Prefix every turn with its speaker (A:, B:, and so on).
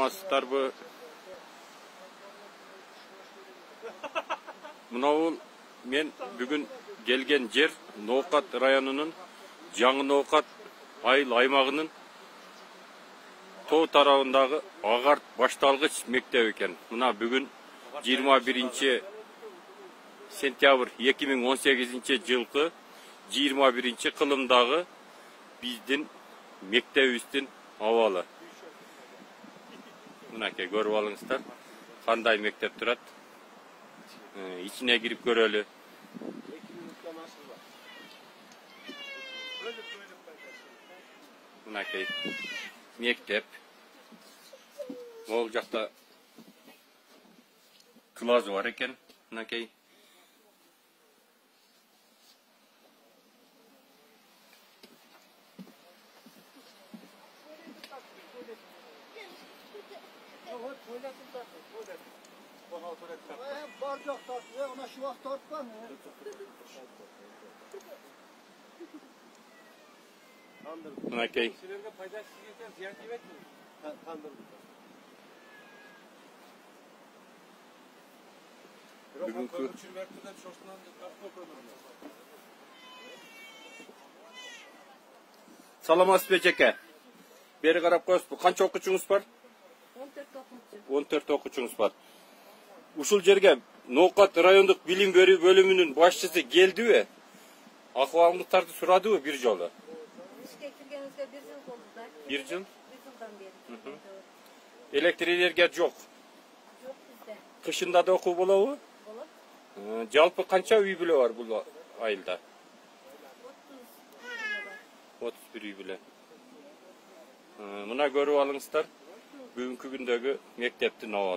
A: Саламатсыздарбы? Мынау мен бүгүн келген жер Ноокат районунун Жаңы Ноокат айыл аймагынын тоо тарабындагы Агарт башталгыч мектеп экен. Мына бүгүн 21 сентябрь 2018 жылкы 21 кылымдагы биздин мектебибиздин абалы. Мынакей көрүп алыңыздар, кандай мектеп турат. İçine girip görölü. Mınakey mektep. Ол жақта класс var eken. Mınakey.
B: Barcak tartıyor, ona şu vaxt tartma mı?
A: Mınakey.
C: Sizlerge faydasız yeten ziyan yemek mi? Kandırdım.
A: Bugünkü Саламатсыз бе жеке? Бери карап коесузбу. Канча окуучуңуз бар? 14 окуучуңуз бар. Ушул жерге Ноокат райондук билим берүү бөлүмүнүн башчысы келдиби? Акыбалыңыздарды сурадыбы бир жолу?
D: Ишке киргенибизге 1 жыл болду да.
A: 1 жыл?
D: 1 жылдан бери.
A: Электр энергия жок.
D: Жок бизде.
A: Кышында да окуу болобу?
D: Болот.
A: Жалпы канча үй бүлө бар бул айылда? 31 үй бүлө. Мына көрүп алыңыздар. Бүгүнкү күндөгү мектептин абалы.